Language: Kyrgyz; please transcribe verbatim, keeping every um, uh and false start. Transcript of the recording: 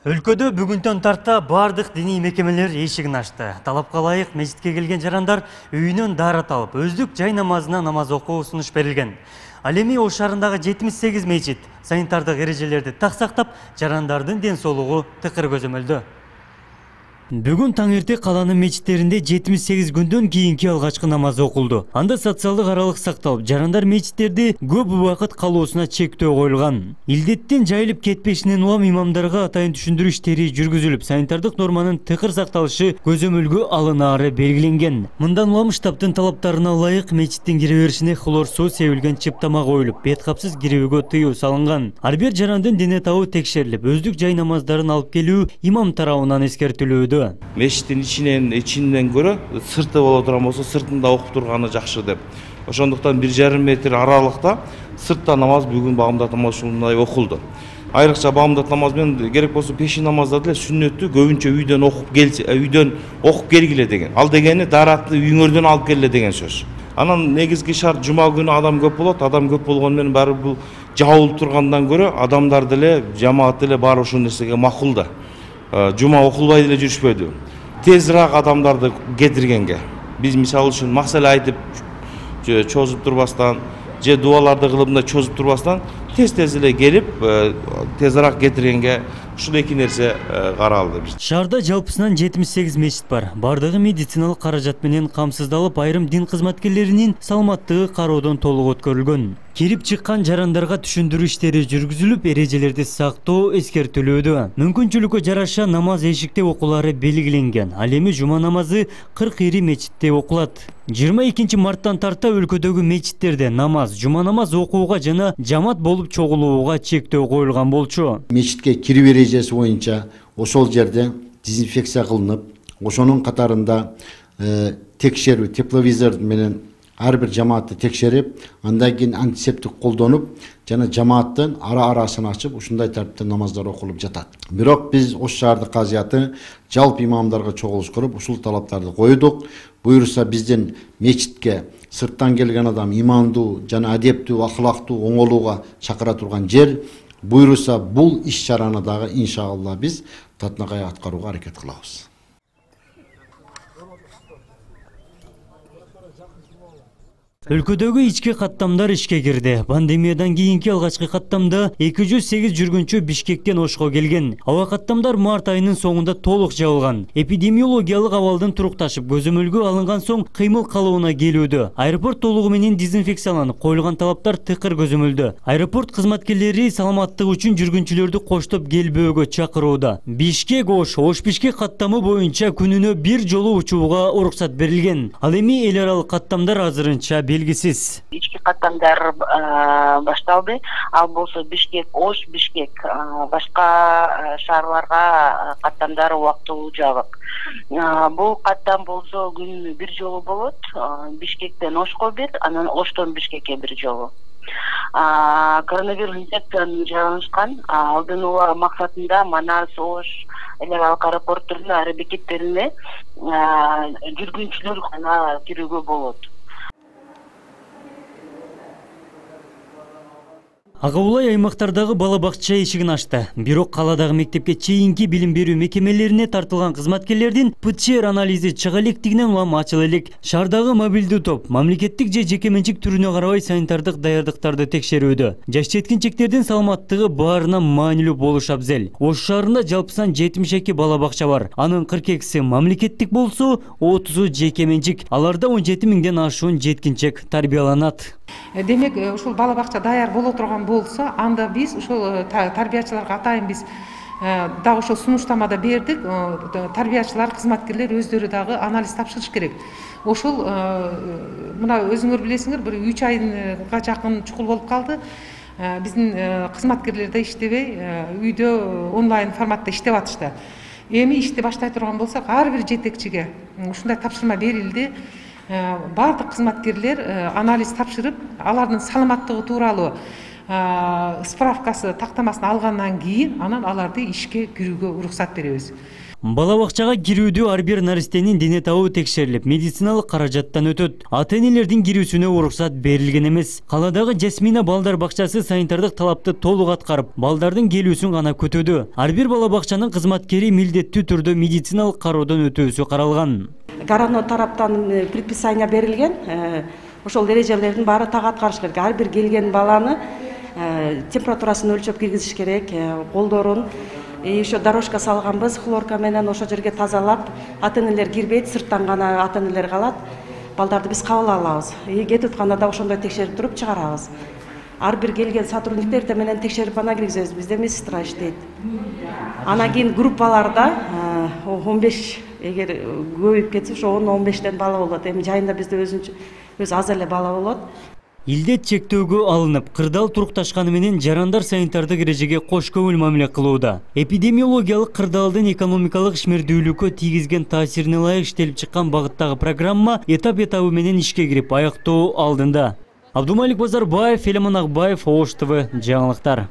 Өлкөдө бүгүндөн тарта бардык диний мекемелер эшигин ачты. Талапка ылайык мечитке келген жарандар үйүнөн даарат алып, өздүк жай намазына намаз окуу сунуш берилген. Ал эми Ош шаарындагы жетимиш сегиз мечит санитардык эрежелерди так сактап, жарандардын ден соолугу тыкыр көзөмөлдө. Бүгүн таң эрте каланын мечиттеринде жетимиш сегиз күндөн кийинки алгачкы намаз окулду. Анда социалдык аралык сакталып, жарандар мечиттерде көп убакыт калуусуна чектөө коюлган. Илдеттен жайылып кетпешинен улам имамдарга атайын түшүндүрүү иштери жүргүзүлүп, санитардык норманын тыкыр сакталышы көзөмөлгө алынаары белгиленген. Мындан улам штабтын талаптарына ылайык мечиттин кире беришине хлор суу себилген чыптама коюлуп, бет капсыз кирүүгө тыюу салынган. Ар бир жарандын дене табы текшерилип, өздүк жай намаздарын алып келүү имам тарабынан эскертилүүдө. Мечиттин ичинен ичинен көрө сырты боло турган болсо сыртында окуп турганы жакшы деп. Ошондуктан бир жарым метр аралыкта сыртта намаз бүгүн багымдат намаз ушундай окулду. Айрыкча багымдат намаз менен керек болсо пешин намазда деле сүннөттү көбүнчө үйдөн окуп келсе, үйдөн окуп келгиле деген. Ал дегени дааратты үйүңөрдөн алып келе деген сөз. Анан негизги шарт жума күнү адам көп болот. Адам көп болгону менен баары бул жабылып тургандан көрө адамдар деле, жамаат деле баары ушул нерсеге макул да. Жума окулбай деле жүрүшпөдү. Тезирээк адамдарды кетиргенге. Биз мисалы үчүн маселе айтып чозуп турбастан, же дуаларды кылып мындай чозуп турбастан тез-тез эле келип, тезирээк кетиргенге ушул эки нерсе каралды биз. Шаарда жалпысынан жетимиш сегиз мечит бар. Бардыгы медициналык каражат менен камсыздалып, айрым дин кызматкерлеринин саламаттыгы кароодон толук өткөрүлгөн. Кирип чыккан жарандарга түшүндүрүү иштери жүргүзүлүп, эрежелерди сактоо эскертилүүдө. Мүмкүнчүлүккө жараша намаз эшикте окуулары белгиленген. Ал эми жума намазы кырк ири мечитте окулат. жыйырма экинчи марттан тарта өлкөдөгү мечиттерде намаз, жума намаз окууга жана жамаат болуп чогулууга чектөө коюлган болчу. Мечитке кирип эрежеси боюнча ошол жерде дезинфекция кылынып, ошонун катарында текшерүү тепловизор менен ар бир жамаатты текшерип, андан кийин антисептик колдонуп, жана жамааттын ара-арасын ачып, ушундай тартипте намаздар окулуп жатат. Бирок биз Ош шаардык казыяты жалпы имамдарга чогулуш куруп, ушул талаптарды койдук. Буюрса биздин мечитке сырттан келген адам имандуу жана адептүү, акылактуу, оңолууга чакыра турган жер. Буюрса бул иш чараны дагы иншалла биз татынакай аткарууга аракет кылабыз. Өлкөдөгү ички каттамдар ишке кирди. Пандемиядан кийинки алгачкы каттамда эки жүз сегиз жүргүнчү Бишкектен Ошко келген. Аба каттамдар март айынын соңунда толук жабылган. Эпидемиологиялык абалдын турукташып, көзөмөлгө алынган соң кыймыл калыбына келүүдө. Аэропорт толугу менен дезинфекцияланып, коюлган талаптар тыкыр көзөмөлдө. Аэропорт кызматкерлери саламаттык үчүн жүргүнчүлөрдү коштоп келбөөгө чакырууда. Бишкек Ош, Ош Бишкек каттамы боюнча күнүнө бир жолу учууга уруксат берилген. Ал эми эл аралык каттамдар азырынча белгисиз. Ички каттамдар башталды. Ал болсо Бишкек, Ош, Бишкек. Башка шаарларга каттамдар убактылуу жабык. Бул каттам болсо күнүнө бир жолу болот. Бишкектен Ошко бир, анан Оштон Бишкекке бир жолу. Коронавирус инфекцияны жайланышкан алдын алуу максатында Манас, Ош, эл аралык аэропорттордун ар бекеттерине жүргүнчүлөр гана кирүүгө болот. Ага Улай аймактардагы бала бакча эшигин ачты. Бирок каладагы мектепке чейинки билим берүү мекемелерине тартылган кызматкерлердин ПЦР анализи чыга электигинен улам ачыла элек. Шаардагы мобилдүү топ мамлекеттик же жеке менчик түрүнө карабай санитардык даярдыктарды текшерүүдө. Жаш жеткинчектердин саламаттыгы баарына маанилүү болушу абзел. Ош шаарында жалпысынан жетимиш эки бала бакча бар. Анын кырк экиси мамлекеттик болсо, отузу жеке менчик. Аларда он жети миңден ашуун жеткинчек тарбияланат. Демек, ушул бала бакча даяр боло турган болсо, анда биз ушул тарбиячыларга атайын биз дагы ошол сунуштамада бердик. Тарбиячылар, кызматкерлер өздөрү дагы анализ тапшырыш керек. Ошол мына өзүңөр билесиңер, бир үч айга жакын чукул болуп калды. Биздин кызматкерлер да иштебей, үйдө онлайн форматта иштеп атышты. Эми ишти баштай турган болсок, ар бир жетекчиге ушундай тапшырма берилди. Бардык кызматкерлер анализ тапшырып, алардын саламаттыгы тууралуу справкасы, тактамасын алгандан кийин анан аларды ишке кирүүгө уруксат беребиз. Бала бакчага кирүүдө ар бир наристенин дене табы текшерилип, медициналык каражаттан өтөт. Ата-энелердин кирүүсүнө уруксат берилген эмес. Каладагы Жасмина балдар бакчасы санитардык талапты толук аткарып, балдардын келүүсүн гана күтүүдө. Ар бир бала бакчанын кызматкери милдеттүү түрдө медициналык кароодон өтүүсү каралган. Городной тараптан предписание берилген. Ошол эрежелердин баары так аткарыш керек. Ар бир келген баланы температурасын өлчөп киргизиш керек, колдорун еще дорожка салганбыз, хлорка менен ошол жерге тазалап, ата-энелер кирбейт, сырттан гана ата-энелер калат. Балдарды биз кабыл алабыз. Кетип атканда да ошондой текшерип туруп чыгарабыз. Ар бир келген сотрудниктер эртең менен текшерип ана киргизебиз. Бизде медсестра иштейт. Анан кийин группаларда он беш, эгер көбөйүп кетсе, ошо он он бештен бала болот. Эми жайында бизде өзүнчө өз аз эле бала болот. Илдет чектөөгө алынып, кырдаал турукташканы менен жарандар санитардык эрежеге кош көңүл мамиле кылууда. Эпидемиологиялык кырдаалдын экономикалык ишмердүүлүккө тийгизген таасирине ылайык иштелип чыккан багыттагы программа этап-этабы менен ишке кирип аяктоо алдында. Абдумалик Базарбаев, Элеман Акбаев, Ош ТВ жаңылыктар.